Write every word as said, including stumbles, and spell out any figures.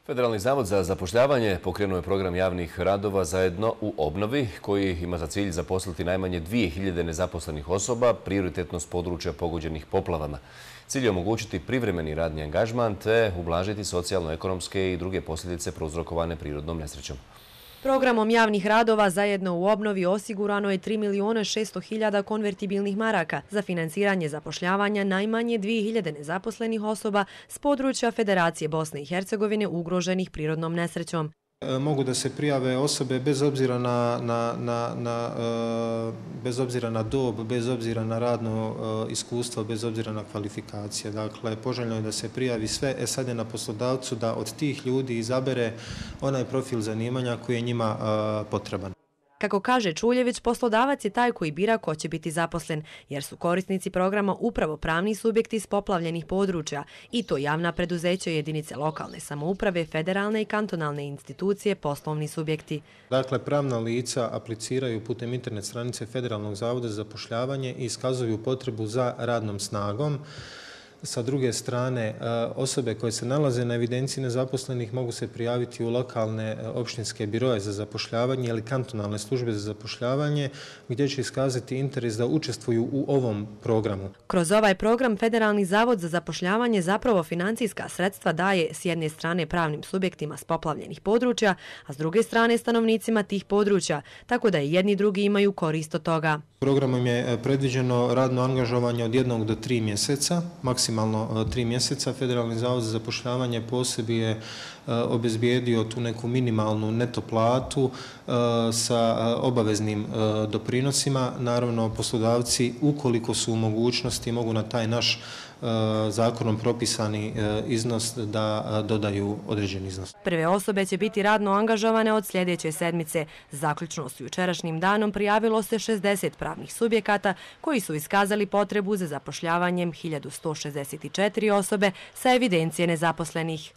Federalni zavod za zapošljavanje pokrenuo je program javnih radova Zajedno u obnovi, koji ima za cilj zaposliti najmanje dvije hiljade nezaposlenih osoba, prioritetno s područja pogođenih poplavama. Cilj je omogućiti privremeni radni angažman te ublažiti socijalno-ekonomske i druge posljedice prouzrokovane prirodnom nesrećom. Programom javnih radova Zajedno u obnovi osigurano je tri milijuna šesto hiljada konvertibilnih maraka za financiranje zapošljavanja najmanje dvije hiljade nezaposlenih osoba s područja Federacije Bosne i Hercegovine ugroženih prirodnom nesrećom. Mogu da se prijave osobe bez obzira na, na, na, na, bez obzira na dob, bez obzira na radno iskustvo, bez obzira na kvalifikacije. Dakle, poželjno je da se prijavi sve, e sad je na poslodavcu da od tih ljudi izabere onaj profil zanimanja koji je njima potreban. Kako kaže Čuljević, poslodavac je taj koji bira ko će biti zaposlen, jer su korisnici programa upravo pravni subjekti s poplavljenih područja, i to javna preduzeća, jedinice lokalne samouprave, federalne i kantonalne institucije, poslovni subjekti. Dakle, pravna lica apliciraju putem internet stranice Federalnog zavoda za zapošljavanje i iskazuju potrebu za radnom snagom. Sa druge strane, osobe koje se nalaze na evidenciji nezaposlenih mogu se prijaviti u lokalne opštinske biroje za zapošljavanje ili kantonalne službe za zapošljavanje, gdje će iskazati interes da učestvuju u ovom programu. Kroz ovaj program Federalni zavod za zapošljavanje zapravo financijska sredstva daje s jedne strane pravnim subjektima s poplavljenih područja, a s druge strane stanovnicima tih područja, tako da i jedni i drugi imaju korist od toga. Programom je predviđeno radno angažovanje od jednog do tri mjeseca, maksimalno tri mjeseca. Federalni zavod za zapošljavanje posebi je obezbijedio tu neku minimalnu neto platu sa obaveznim doprinosima. Naravno, poslodavci, ukoliko su u mogućnosti, mogu na taj naš zakonom propisani iznos da dodaju određeni iznos. Prve osobe će biti radno angažovane od sljedeće sedmice. Zaključno s jučerašnjim danom prijavilo se šezdeset pravnih subjekata koji su iskazali potrebu za zapošljavanjem hiljadu sto šezdeset četiri osobe sa evidencije nezaposlenih.